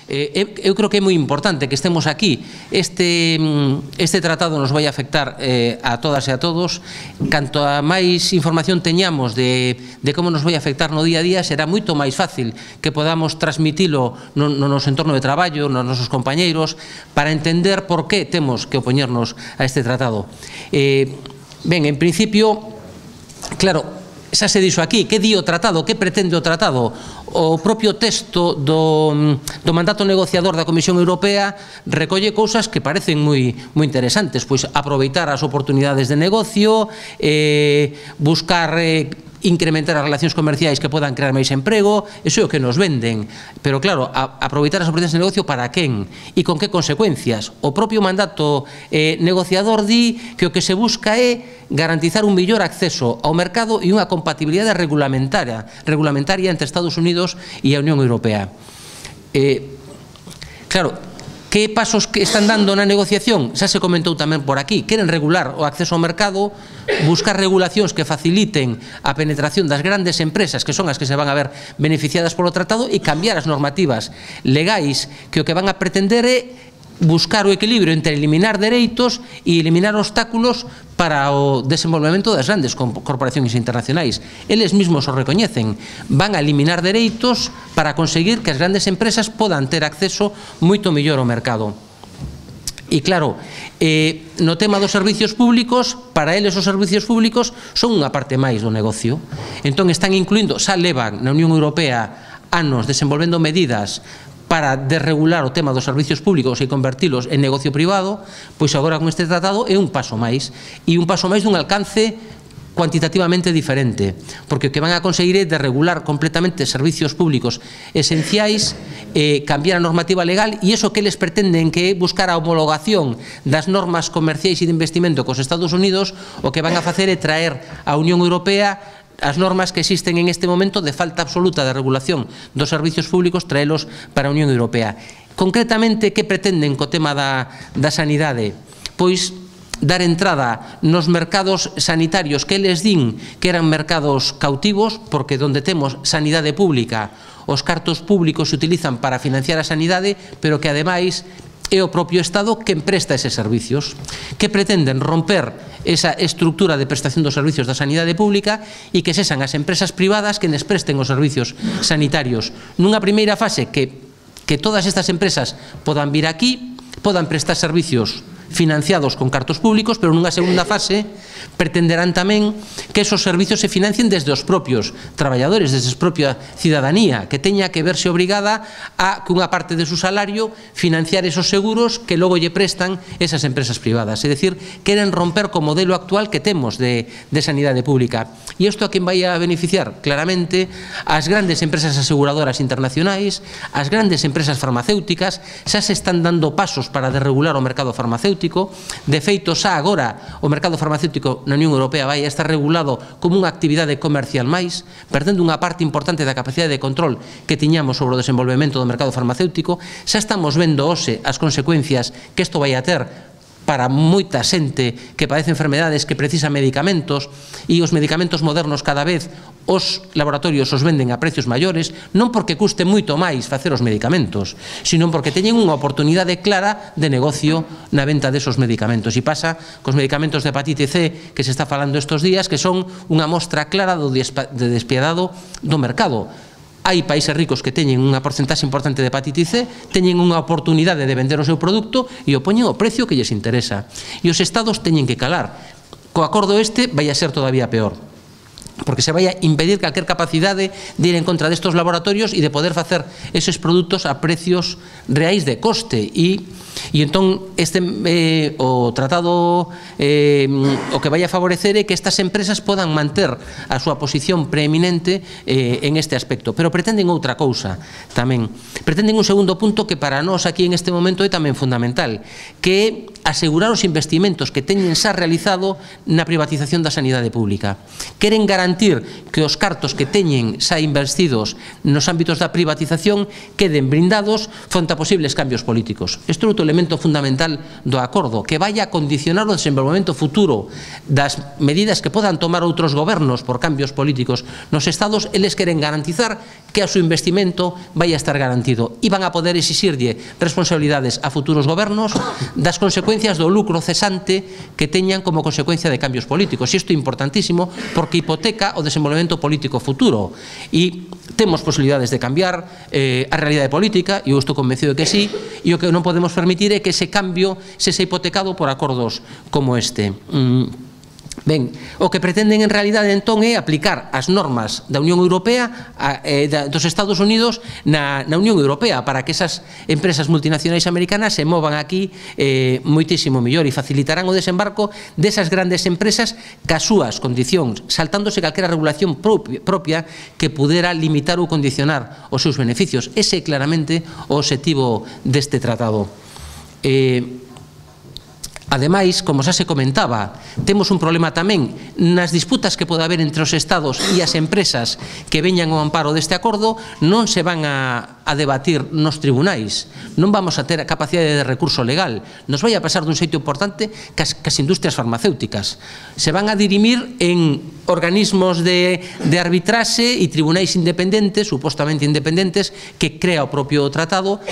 eu creo que é moi importante que estemos aquí. Este tratado nos vai afectar a todas e a todos. Canto a máis información teñamos de como nos vai afectar no día a día, será moito máis fácil que podamos transmitilo no noso entorno de traballo, nos nosos compañeiros, para entender por que temos que opoñernos a este tratado. Ben, en principio, claro, xa se dixo aquí, que di o tratado, que pretende o tratado? O propio texto do mandato negociador da Comisión Europea recolle cousas que parecen moi interesantes, pois aproveitar as oportunidades de negocio, buscar incrementar as relacións comerciais que podan crear máis emprego, iso é o que nos venden. Pero claro, aproveitar as oportunidades de negocio para quen e con que consecuencias? O propio mandato negociador di que o que se busca é garantizar un mellor acceso ao mercado e unha compatibilidade regulamentaria entre Estados Unidos e a Unión Europea. Claro, que pasos que están dando na negociación? Xa se comentou tamén por aquí. Queren regular o acceso ao mercado, buscar regulacións que faciliten a penetración das grandes empresas, que son as que se van a ver beneficiadas polo tratado, e cambiar as normativas legais que o que van a pretender é buscar o equilibrio entre eliminar dereitos e eliminar obstáculos para o desenvolvemento das grandes corporacións internacionais. Eles mesmos o recoñecen. Van a eliminar dereitos para conseguir que as grandes empresas podan ter acceso moito mellor ao mercado. E claro, no tema dos servicios públicos, para eles os servicios públicos son unha parte máis do negocio. Entón están incluindo, xa levan na Unión Europea anos desenvolvendo medidas para desregular o tema dos servicios públicos e convertilos en negocio privado, pois agora con este tratado é un paso máis, e un paso máis dun alcance cuantitativamente diferente, porque o que van a conseguir é desregular completamente servicios públicos esenciais, cambiar a normativa legal, e iso que eles pretenden que é buscar a homologación das normas comerciais e de investimento cos Estados Unidos, o que van a facer é traer a Unión Europea as normas que existen en este momento de falta absoluta de regulación dos servicios públicos, traelos para a Unión Europea. Concretamente, que pretenden co tema da sanidade? Pois dar entrada nos mercados sanitarios que eles din que eran mercados cautivos, porque donde temos sanidade pública, os cartos públicos se utilizan para financiar a sanidade, pero que ademais é o propio Estado quen presta eses servicios, que pretenden romper esa estructura de prestación dos servicios da sanidade pública e que sexan as empresas privadas que les presten os servicios sanitarios. Nunha primeira fase que todas estas empresas podan vir aquí, podan prestar servicios financiados con cartos públicos, pero nunha segunda fase pretenderán tamén que esos servicios se financien desde os propios traballadores, desde a propia cidadanía, que teña que verse obrigada a, cunha parte de su salario, financiar esos seguros que logo lle prestan esas empresas privadas. É dicir, queren romper co modelo actual que temos de sanidade pública. E isto a quen vai a beneficiar? Claramente as grandes empresas aseguradoras internacionais, as grandes empresas farmacéuticas. Xa se están dando pasos para desregular o mercado farmacéutico. De feito, xa agora o mercado farmacéutico na Unión Europea vai a estar regulado como unha actividade comercial máis, perdendo unha parte importante da capacidade de control que tiñamos sobre o desenvolvemento do mercado farmacéutico. Xa estamos vendo hoxe as consecuencias que isto vai a ter para moita xente que padece enfermedades que precisa medicamentos, e os medicamentos modernos cada vez os laboratorios os venden a precios maiores, non porque custe moito máis facer os medicamentos, sino porque teñen unha oportunidade clara de negocio na venta desos medicamentos. E pasa cos medicamentos de hepatite C que se está falando estes días, que son unha mostra clara de despiadado do mercado. Hai países ricos que teñen unha porcentaxe importante de hepatite C, teñen unha oportunidade de vender o seu produto e o poñen ao precio que lles interesa. E os estados teñen que calar. Co acordo este vai a ser todavía peor, porque se vai a impedir calquer capacidade de ir en contra destos laboratorios e de poder facer eses produtos a precios reais de coste. E entón o tratado o que vai a favorecer é que estas empresas podan manter a súa posición preeminente en este aspecto, pero pretenden outra cousa tamén. Pretenden un segundo punto que para nós aquí en este momento é tamén fundamental, que é asegurar os investimentos que teñen xa realizado na privatización da sanidade pública. Queren garantir que os cartos que teñen xa investidos nos ámbitos da privatización queden blindados fronte a posibles cambios políticos. Isto é outro elemento fundamental do acordo, que vai a condicionar o desenvolvemento futuro das medidas que podan tomar outros gobernos por cambios políticos nos estados. Eles queren garantizar que o seu investimento vai a estar garantido e van a poder exixirlle responsabilidades a futuros gobernos das consecuencias do lucro cesante que teñan como consecuencia de cambios políticos. Isto é importantísimo porque hipoteca o desenvolvemento político futuro e temos posibilidades de cambiar a realidade política, e eu estou convencido de que sí, e o que non podemos permitir é que ese cambio se hipotecado por acordos como este. Ben, o que pretenden en realidade entón é aplicar as normas da Unión Europea dos Estados Unidos na Unión Europea para que esas empresas multinacionais americanas se movan aquí moitísimo mellor e facilitarán o desembarco desas grandes empresas cas súas condicións, saltándose calquera regulación propia que pudera limitar ou condicionar os seus beneficios. Ese é claramente o obxectivo deste tratado. Ademais, como xa se comentaba, temos un problema tamén nas disputas que pode haber entre os estados e as empresas que veñan ao amparo deste acordo. Non se van a debatir nos tribunais, non vamos a ter a capacidade de recurso legal, nos vai a pasar dun xeito importante cas industrias farmacéuticas. Se van a dirimir en organismos de arbitraxe e tribunais independentes, supostamente independentes, que crea o propio tratado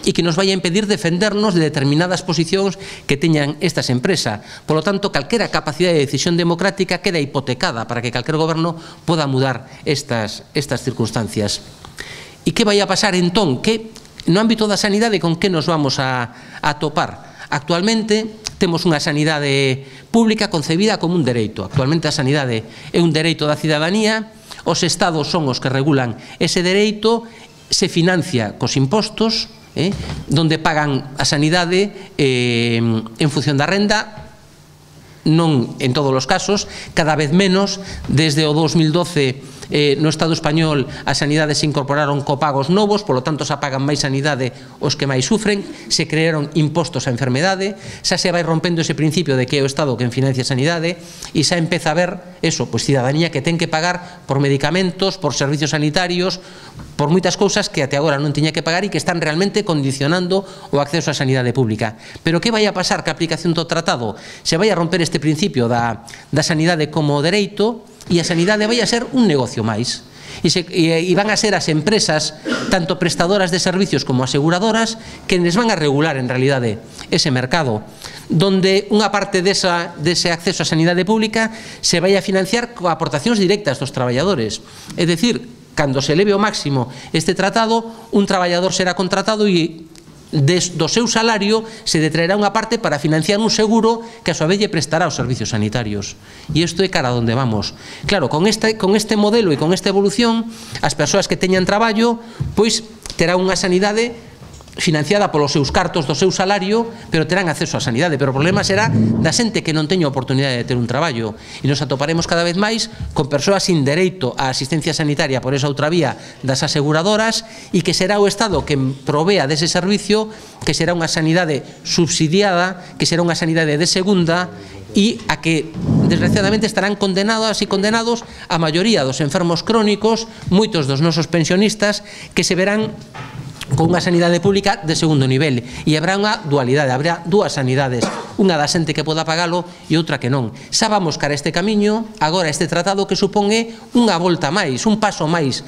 e que nos vai a impedir defendernos de determinadas posicións que teñan estas empresas. Por lo tanto, calquera capacidade de decisión democrática queda hipotecada para que calquer goberno poda mudar estas circunstancias. E que vai a pasar entón? Que no ámbito da sanidade con que nos vamos a topar? Actualmente temos unha sanidade pública concebida como un dereito. Actualmente a sanidade é un dereito da cidadanía, os estados son os que regulan ese dereito, se financia cos impostos, donde pagan a sanidade en función da renda, non en todos os casos, cada vez menos. Desde o 2012 no Estado español a sanidade se incorporaron copagos novos, polo tanto xa pagan máis sanidade os que máis sufren, se crearon impostos á enfermedade, xa se vai rompendo ese principio de que é o Estado quen financia a sanidade e xa empeza a ver eso, pois cidadanía que ten que pagar por medicamentos, por servicios sanitarios, por moitas cousas que até agora non tiña que pagar e que están realmente condicionando o acceso á sanidade pública. Pero que vai a pasar que a aplicación do tratado se vai a romper este principio da sanidade como dereito e a sanidade vai a ser un negocio máis. E van a ser as empresas, tanto prestadoras de servicios como aseguradoras, que les van a regular en realidade ese mercado, donde unha parte dese acceso á sanidade pública se vai a financiar con aportacións directas dos traballadores. É dicir, cando se eleve ao máximo este tratado, un traballador será contratado e do seu salario se detraerá unha parte para financiar un seguro que a súa vez lle prestará os servicios sanitarios. E isto é cara a onde vamos. Claro, con este modelo e con esta evolución, as persoas que teñan traballo pois terán unha sanidade financiada polos seus cartos do seu salario, pero terán acceso á sanidade. Pero o problema será da xente que non teña oportunidade de ter un traballo, e nos atoparemos cada vez máis con persoas sin dereito á asistencia sanitaria por esa outra vía das aseguradoras, e que será o Estado que provea dese servicio, que será unha sanidade subsidiada, que será unha sanidade de segunda, e a que desgraciadamente estarán condenadas e condenados a maioría dos enfermos crónicos, moitos dos nosos pensionistas, que se verán con unha sanidade pública de segundo nivel, e habrá unha dualidade, habrá dúas sanidades, unha da xente que poda pagalo e outra que non. Xa vamos cara a este camiño, agora este tratado que supón unha volta máis, un paso máis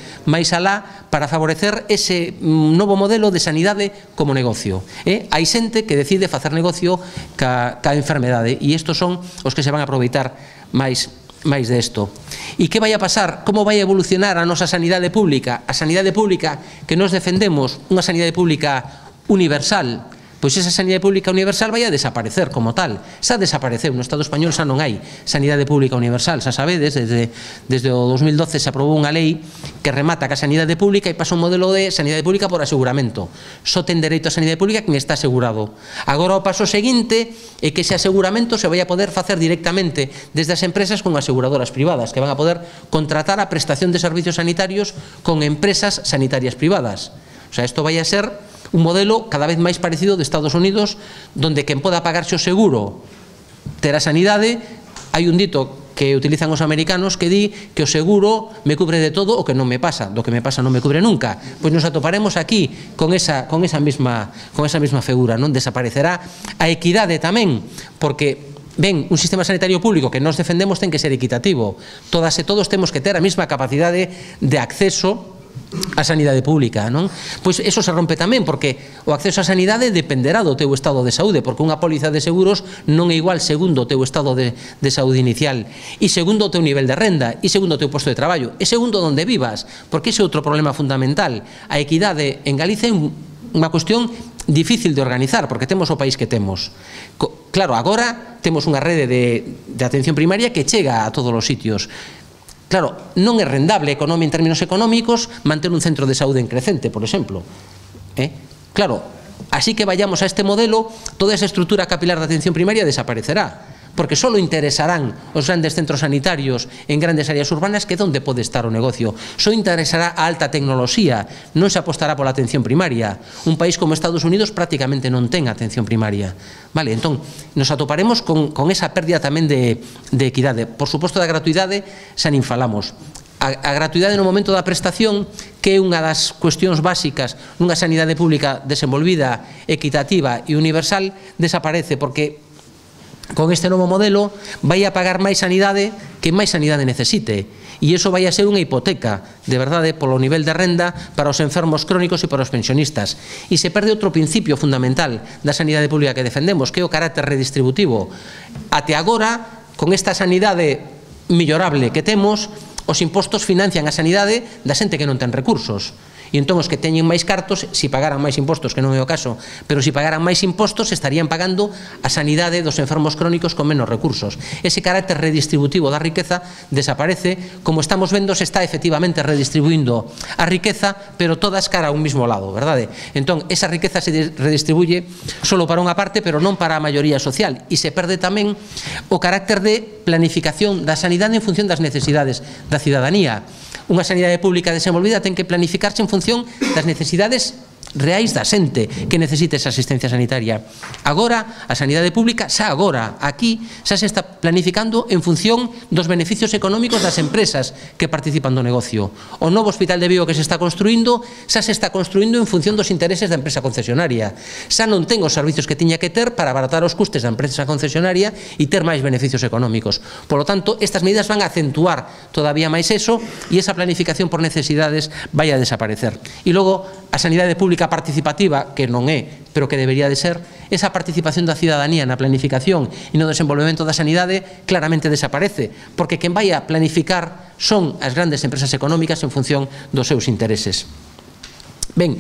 alá para favorecer ese novo modelo de sanidade como negocio. Hai xente que decide facer negocio ca enfermedade, e estos son os que se van a aproveitar máis desto. E que vai a pasar? Como vai a evolucionar a nosa sanidade pública? A sanidade pública que nos defendemos, unha sanidade pública universal, pois esa sanidade pública universal vai a desaparecer como tal. Xa desapareceu, no Estado español xa non hai sanidade pública universal, xa sabedes, desde o 2012 se aprobou unha lei que remata ca sanidade pública e pasa un modelo de sanidade pública por aseguramento. Só ten dereito a sanidade pública quen está asegurado. Agora o paso seguinte é que ese aseguramento se vai a poder facer directamente desde as empresas con aseguradoras privadas, que van a poder contratar a prestación de servicios sanitarios con empresas sanitarias privadas. O sea, isto vai a ser un modelo cada vez máis parecido de Estados Unidos, donde quen poda pagarse o seguro terá sanidade. Hai un dito que utilizan os americanos que di que o seguro me cubre de todo o que non me pasa, do que me pasa non me cubre nunca. Pois nos atoparemos aquí con esa mesma figura, non? Desaparecerá a equidade tamén, porque ben, un sistema sanitario público que nos defendemos ten que ser equitativo. Todas e todos temos que ter a mesma capacidade de acceso a sanidade pública, non? Pois eso se rompe tamén, porque o acceso á sanidade dependerá do teu estado de saúde, porque unha póliza de seguros non é igual segundo o teu estado de saúde inicial, e segundo o teu nivel de renda, e segundo o teu posto de traballo, e segundo onde vivas, porque ese é outro problema fundamental. A equidade en Galicia é unha cuestión difícil de organizar, porque temos o país que temos. Claro, agora temos unha rede de atención primaria que chega a todos os sitios. Claro, non é rendable en términos económicos manter un centro de saúde en Crecente, por exemplo. Claro, así que vayamos a este modelo, toda esa estrutura capilar de atención primaria desaparecerá, porque só interesarán os grandes centros sanitarios en grandes áreas urbanas, que é onde pode estar o negocio. Só interesará a alta tecnoloxía, non se apostará pola atención primaria. Un país como Estados Unidos prácticamente non ten atención primaria. Vale, entón, nos atoparemos con esa pérdida tamén de equidade. Por suposto, da gratuidade xa nin falamos. A gratuidade no momento da prestación, que é unha das cuestións básicas nunha sanidade pública desenvolvida, equitativa e universal, desaparece, porque con este novo modelo vai a pagar máis sanidade que máis sanidade necesite, e iso vai a ser unha hipoteca de verdade polo nivel de renda para os enfermos crónicos e para os pensionistas, e se perde outro principio fundamental da sanidade pública que defendemos, que é o carácter redistributivo. Até agora, con esta sanidade millorable que temos, os impostos financian a sanidade da xente que non ten recursos. E entón os que teñen máis cartos, se pagaran máis impostos, que non é o caso, pero se pagaran máis impostos estarían pagando a sanidade dos enfermos crónicos con menos recursos. Ese carácter redistributivo da riqueza desaparece, como estamos vendo se está efectivamente redistribuindo a riqueza, pero todas cara a un mismo lado, verdade? Entón, esa riqueza se redistribuye solo para unha parte, pero non para a maioría social, e se perde tamén o carácter de planificación da sanidade en función das necesidades da cidadanía. Unha sanidade pública desenvolvida ten que planificarse en función das necesidades reais da xente que necesite esa asistencia sanitaria. Agora, a sanidade pública, xa agora, aquí, xa se está planificando en función dos beneficios económicos das empresas que participan do negocio. O novo hospital de Vigo que se está construindo, xa se está construindo en función dos intereses da empresa concesionaria. Xa non ten os servicios que tiña que ter para abaratar os custes da empresa concesionaria e ter máis beneficios económicos. Por lo tanto, estas medidas van a acentuar todavía máis eso, e esa planificación por necesidades vai a desaparecer. E logo, a sanidade pública participativa, que non é, pero que debería de ser, esa participación da cidadanía na planificación e no desenvolvemento da sanidade claramente desaparece, porque quen vai a planificar son as grandes empresas económicas en función dos seus intereses. Ben,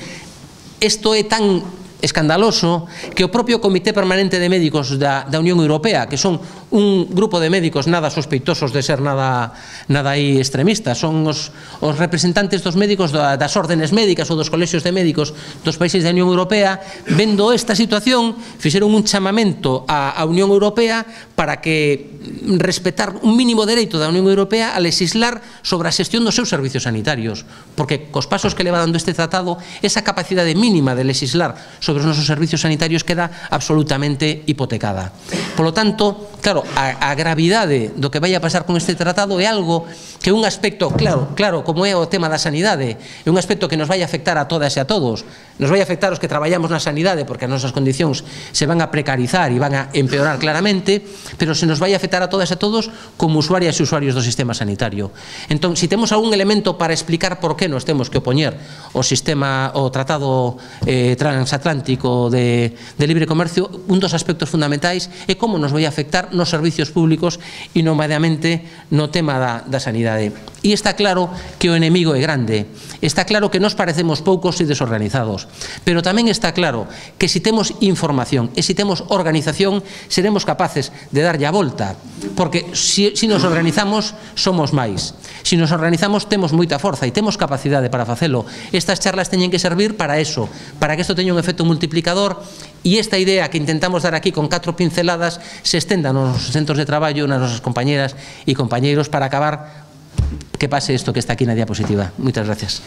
isto é tan escandaloso que o propio Comité Permanente de Médicos da Unión Europea, que son un grupo de médicos nada sospeitosos de ser nada aí extremistas, son os representantes dos médicos das órdenes médicas ou dos colexios de médicos dos países da Unión Europea, vendo esta situación, fixeron un chamamento á Unión Europea para que respetar un mínimo dereito da Unión Europea a legislar sobre a xestión dos seus servicios sanitarios, porque cos pasos que leva dando este tratado, esa capacidade mínima de legislar sobre os nosos servicios sanitarios queda absolutamente hipotecada. Por lo tanto, claro, a gravidade do que vai a pasar con este tratado é algo que é un aspecto, claro, como é o tema da sanidade, é un aspecto que nos vai a afectar a todas e a todos. Nos vai a afectar os que traballamos na sanidade, porque as nosas condicións se van a precarizar e van a empeorar claramente, pero se nos vai a afectar a todas e a todos como usuarias e usuarios do sistema sanitario. Entón, se temos algún elemento para explicar por que nos temos que opoñer o tratado transatlántico de libre comercio, un dos aspectos fundamentais é como nos vai a afectar nos servicios públicos e nomadamente no tema da sanidade. E está claro que o enemigo é grande, está claro que nos parecemos poucos e desorganizados, pero tamén está claro que se temos información e se temos organización seremos capaces de darlle a volta, porque se nos organizamos somos máis, se nos organizamos temos moita forza e temos capacidade para facelo. Estas charlas teñen que servir para eso, para que isto teña un efecto multiplicador e esta idea que intentamos dar aquí con 4 pinceladas se estenda nos centros de traballo, nas nosas compañeras e compañeiros, para acabar que pase isto que está aquí na diapositiva. Moitas gracias.